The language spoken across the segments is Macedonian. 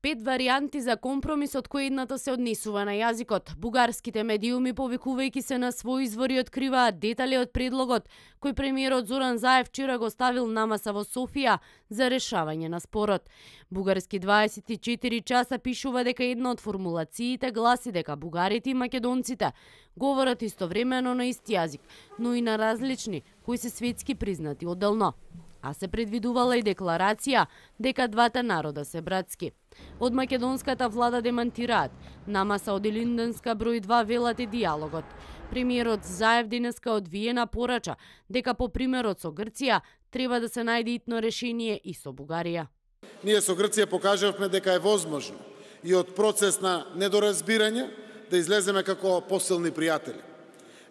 5 варијанти за компромис, од кои едната се однесува на јазикот. Бугарските медиуми, повикувајќи се на своји извори, откриваат детали од предлогот кој премиерот Зоран Заев вчера го ставил на маса во Софија за решавање на спорот. Бугарски 24 часа пишува дека една од формулациите гласи дека бугарите и македонците говорат истовремено на ист јазик, но и на различни, кои се светски признати одделно. А се предвидувала и декларација дека двата народа се братски. Од македонската влада демантираат. На маса од Илинденска број 2 велат е диалогот. Премиерот Заев денеска од Виена порача дека по примерот со Грција треба да се најде итно решение и со Бугарија. Ние со Грција покажавме дека е возможно и од процес на недоразбирање да излеземе како посилни пријатели.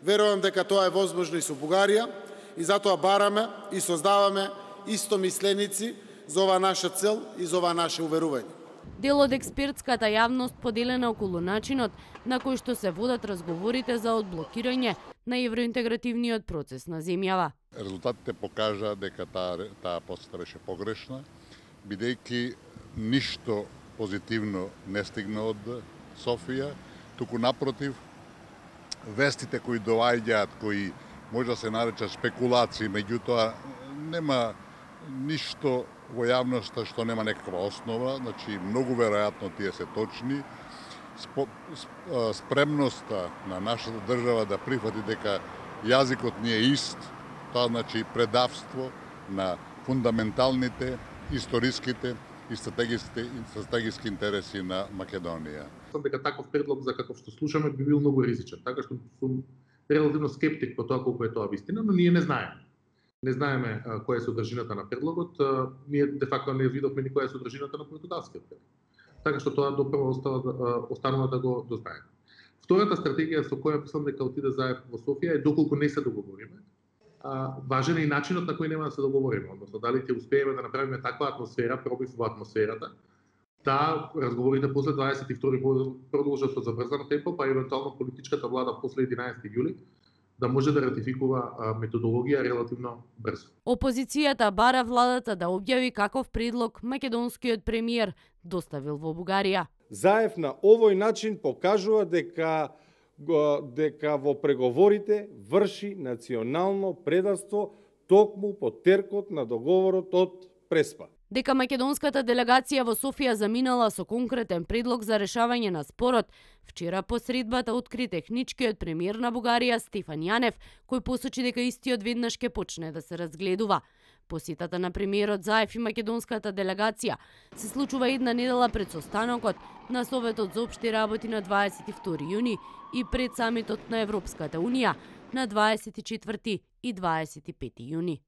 Верувам дека тоа е возможно и со Бугарија и затоа бараме и создаваме истомисленици за оваа наша цел и за оваа наше уверување. Дел од експертската јавност поделена околу начинот на кој што се водат разговорите за одблокирање на евроинтегративниот процес на земјава. Резултатите покажа дека таа посета беше погрешна, бидејќи ништо позитивно не стигна од Софија, туку напротив, вестите кои доаѓаат, кои може да се наречат спекулации, меѓутоа нема ништо во јавноста што нема некаква основа, значи многу веројатно тие се точни. Спремноста на нашата држава да прифати дека јазикот ни е ист, тоа значи предавство на фундаменталните, историските и стратегиски интереси на Македонија. Дека таков предлог за каков што слушаме би бил многу ризичен, така што сум релативно скептик по тоа колку е тоа вистина, но ние не знаеме. Не знаеме која е содржината на предлогот, ние де факто не видовме ни која е содржината на португалскиот предлог. Така што тоа допрво останува да го дознаеме. Втората стратегија со која мислам дека отиде Заев во Софија е доколку не се договориме. Важен е и начинот на кој нема да се договориме, односно дали ќе успееме да направиме таква атмосфера, пробив во атмосферата, да разговорите после 22 продолжат со забрзано темпо, па евентуално политичката влада после 11 јули да може да ратификува методологија релативно брзо. Опозицијата бара владата да објави каков предлог македонскиот премиер доставил во Бугарија. Заев на овој начин покажува дека во преговорите врши национално предавство токму по теркот на договорот од Преспа. Дека македонската делегација во Софија заминала со конкретен предлог за решавање на спорот, вчера по средбата откри техничкиот премиер на Бугарија Стефан Јанев, кој посочи дека истиот веднаш ќе почне да се разгледува. Посетата на премиерот Заев и македонската делегација се случува една недела пред состанокот на Советот за општи работи на 22 јуни и пред самитот на Европската унија на 24 и 25 јуни.